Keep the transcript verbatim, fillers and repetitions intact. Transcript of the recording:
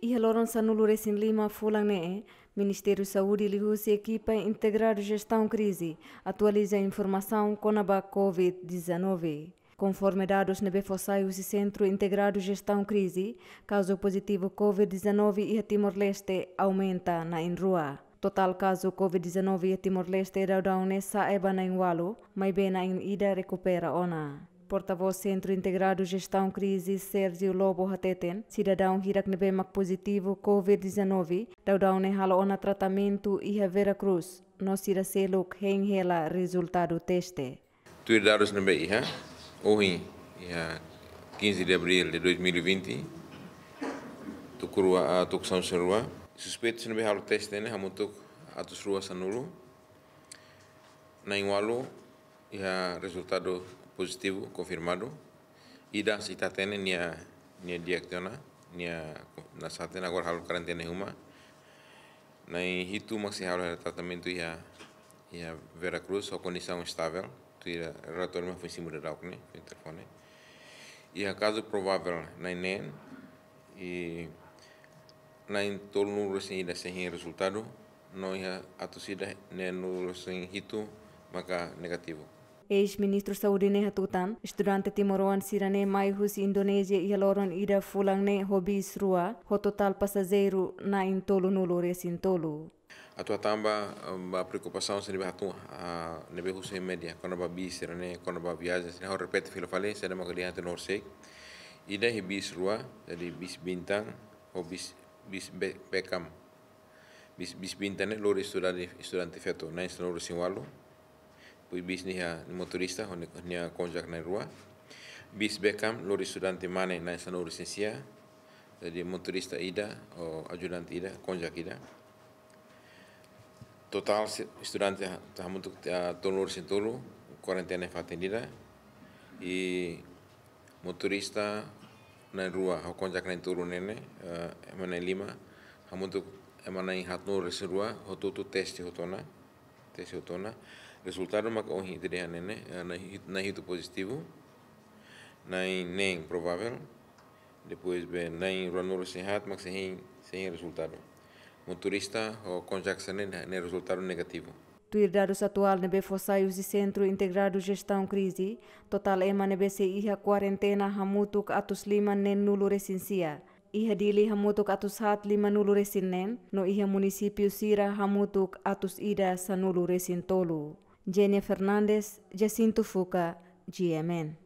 Iha loron sanulu resin lima fulan ne'e, Ministériu Saúde liuhusi ekipa integradu jestaun krize atualiza informasaun kona-ba covid dezanove. Konforme dadus ne'ebé fó sai husi Sentru Integradu Jestaun Krize, kazu pozitivu covid dezanove iha Timor-Leste aumenta na'in-rua. Totál kazu covid dezanove iha Timor-Leste daudaun ne'e sa'e ba na'in-ualu, maibé na'in-ida rekupera ona. Portavós Sentru Integradu Jestaun Krize, Sérgio Lobo hateten, sidadaun hirak ne'ebé mak pozitivu covid dezanove daudaun ne'e halo ona tratamentu iha Vera Cruz, no sira seluk hein hela rezultadu teste. Tuir dadus ne'ebé iha, ohin, iha quinze de abril de dois mil e vinte, tuku rua, ah, tuku sanulu-resin-rua, suspeitus ne'ebé halo teste ne'e hamutuk atus rua sanulu, na'in-ualu iha rezultadu pozitivu konfirmadu. Ida sei hatene nia, nia di'ak tiha ona, nia na saten agora halo karentena iha uma. Na'in-hitu mak sei halo tratamentu iha, iha Vera Cruz ho kondisaun estavel. Tuir relatóriu mak foin simu daudauk ne'e, foin telefone. Iha kazu provável na'in-neen, i na'in-tolunulu-resin-ida sei hein rezultadu, no iha atus ida neenulu-resin-hitu maka negativu. Eis-Ministru Saúde ne'e hatutan, estudante timoroan sira-ne'e mai husi Indonézia iha loron ida fulan ne'e ho bis rua, ho totál pasajeiru na'in-tolunulu-resin-tolu. Atu hatán ba, ba preokupasaun sira ne'ebé hatún, ah, ne'ebé husu iha média, kona-ba bis sira-ne'e, kona-ba viajen sira-ne'e, ha'u repete fila fali, saida maka dehan tiha ona horisehik. Ida iha bis rua, jadi bis Bintang, ho bis, bis Be-, Beckham. Bis, bis Bintang ne'e lori estudante, estudante feto, na'in sanulu-resin-ualu. Depois bis ne'e iha motorista, ho nia, nia konjak na'in-rua. Bis Beckham lori estudante mane na'in sanulu-resin-sia. Jadi motorista ida, ho ajudante ida, konjak ida. Totál se-, estudante ha-, hamutuk, ah, tolunulu-resin-tolu, karentena iha fatin ida. I motorista na'in-rua, ho konjak na'in-tolu ne'e, eh, ema na'in-lima, hamutuk ema na'in-haatnulu-resin-rua, hotu-hotu teste hotu ona, teste hotu ona. Rezultadu maka ohin ita dehan ne'e, eh, na'in-hi-, na'in-hitu pozitivu, na'in-neen provável, depois be na'in-ruanulu-resin-haat mak sei hein, sei hein rezultadu. Motorista ho konjak sira-ne'e, nia rezultadu negativu. Tuir dadus atuál ne'ebé fó sai husi Sentru Integradu Jestaun Krize, totál ema ne'ebé sei iha kuarentena hamutuk atus lima neenulu-resin-sia. Iha Dili hamutuk atus haat limanulu-resin-neen, no iha munisípiu sira hamutuk atus ida sanulu-resin-tolu. Jenia Fernandes, Jacinto Fuca, G M N.